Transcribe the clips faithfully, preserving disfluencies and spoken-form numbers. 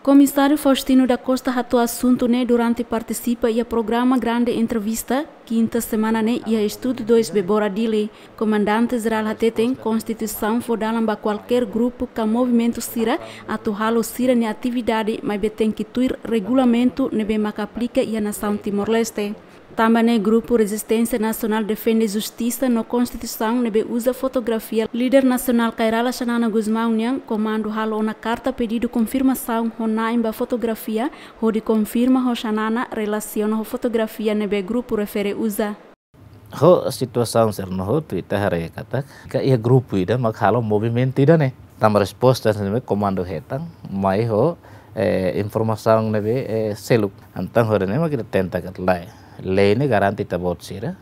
Komisáriu Faustino da Costa hato'o asuntu ne'e durante partisipa iha programa Grande Entrevista, kinta semana ne'e iha Estúdiu dois Bebora Dili. Komandante Jerál hateten, Konstituisaun fó dalan ba kualkér grupu ka movimentu sira atu halo sira-nia atividade, maibé tenke tuir regulamentu ne'ebé maka aplika iha nasaun Timor-Leste. Tanba ne'e, Grupu Rezisténsia Nasionál Defende Justisa no Konstituisaun ne'ebé uza fotografia líder nasionál Kay Rala Xanana Gusmão nian, komandu halo ona karta pedidu konfirmasaun ho na'in ba fotografia, hodi konfirma ho Xanana relasiona ho fotografia ne'ebé grupu refere uza. Ho situasaun sira no hotu ita haree katak, ka iha grupu ida mak halo movimentu ida ne'e. Tanba resposta ne'ebé komandu hetan, mai ho, eh, informasaun ne'ebé, eh, seluk. Entaun hodi ne'e mak ita tenta katak lae. Lei ne'e garante ita-boot sira.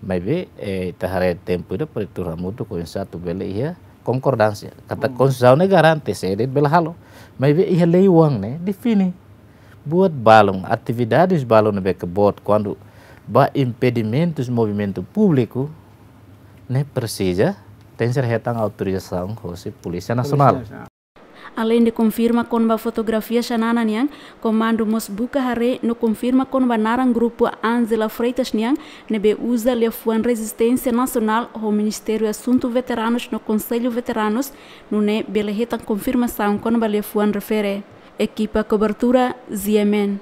Maibé, eh, ita haree tempu ida para ita hamutuk oinsá atu bele iha konkordánsia. Katak, hmm, Konstituisaun ne'e garante sé de'it bele halo. Maibé iha lei oan ne'e define buat balun, atividades balun ne'ebé ke boot kuandu ba impedimentus movimentu públiku ne'e presiza tenke hetan autorizasaun hosi Polísia Nasionál. Aleinde konfirma kona-ba fotografia Xanana nian, komandu mós buka haree no konfirma kona-ba naran grupu Ángela Freitas nian, ne'ebé uza liafuan Rezisténsia Nasionál ho Ministériu Asuntu Veteranus no Konsellu Veteranus, nune'e bele hetan konfirmasaun kona-ba liafuan refere. Ekipa kobertura, Z M N.